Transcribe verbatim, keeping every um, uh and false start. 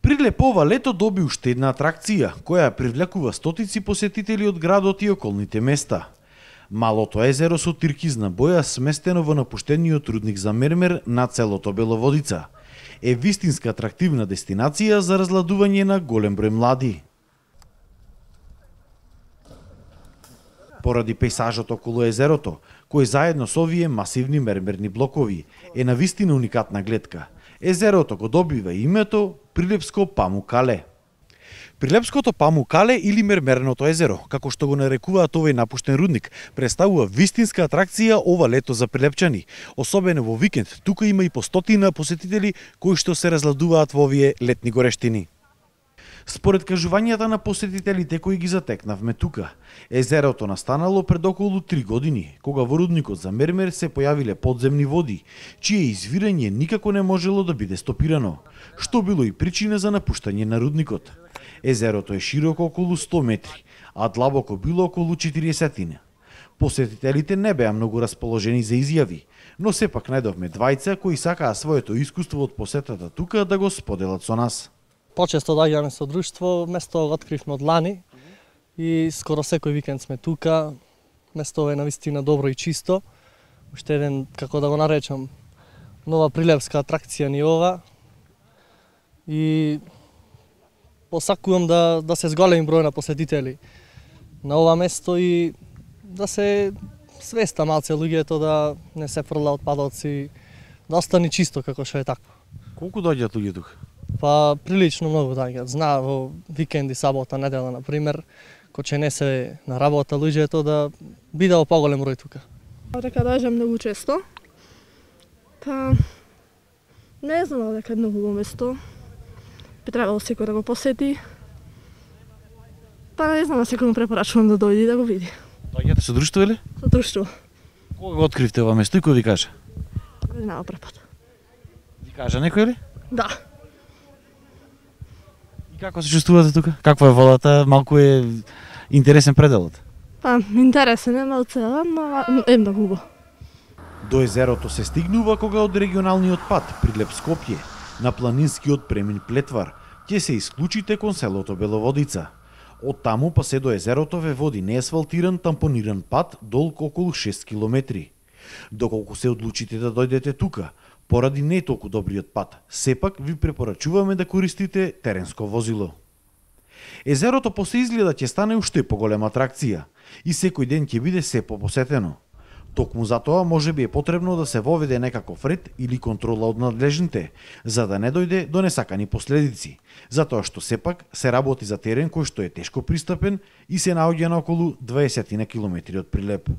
Прилеп ова лето доби уште една атракција, која привлекува стотици посетители од градот и околните места. Малото езеро со тиркизна боја, сместено во напуштениот рудник за мермер на целото Беловодица, е вистинска атрактивна дестинација за разладување на голем број млади. Поради пейзажот околу езерото, кој заедно со овие масивни мермерни блокови е навистина уникатна гледка, езерото го добива името Прилепско Памукале. Прилепското Памукале или мермерното езеро, како што го нарекуваат овој напуштен рудник, представува вистинска атракција ова лето за прилепчани. Особено во викенд, тука има и по стотина посетители кои што се разладуваат во овие летни горештини. Според кажувањата на посетителите кои ги затекнавме тука, езерото настанало пред околу три години, кога во рудникот за мермер се појавиле подземни води, чие извирање никако не можело да биде стопирано, што било и причина за напуштање на рудникот. Езерото е широко околу сто метри, а длабоко било околу четириесет. Посетителите не беа многу расположени за изјави, но сепак најдовме двајца кои сакаа своето искуство од посетата тука да го споделат со нас. Почесто доаѓаме со друштво, место го откривме од лани и скоро секој викенд сме тука. Место е навистина добро и чисто. Уште еден, како да го наречам, нова прилепска атракција ни ова. И посакувам да, да се зголеми број на посетители на ова место и да се свеста малце луѓето да не се фрла отпадоци, да остане чисто како што е такво. Колку доаѓаат луѓе тука? Па прилично многу доаѓаат. Знаа во викенди, сабота, недела на пример, кој че не се на работа луѓето да биде во поголем број тука. Дека доаѓам многу често. Па не знам дека е многу место. Би требало секој да го посети. Па не знам, секој му препорачувам да дојде и да го види. Доаѓате со друштво или? Со друштво. Кога го откривте ова место и кој ви кажа? Не знам прв пат. Ви кажа некој или? Да. И како се чувствувате тука? Каква е водата? Малку е интересен пределот. Па интересен е малце, но е многу убаво. До езерото се стигнува кога од регионалниот пат Прилеп Скопје на планинскиот премин Плетвар ќе се исклучите кон селото Беловодица. Од таму па се до езерото ве води неасфалтиран тампониран пат долг околу шест километри. Доколку се одлучите да дојдете тука, поради не толку добриот пат, сепак ви препорачуваме да користите теренско возило. Езерото после изгледа ќе стане уште поголема атракција и секој ден ќе биде се попосетено. Токму за тоа може би е потребно да се воведе некаков ред или контрола од надлежните, за да не дојде до несакани последици, затоа што сепак се работи за терен кој што е тешко пристапен и се наоѓа на околу дваесет километри од Прилеп.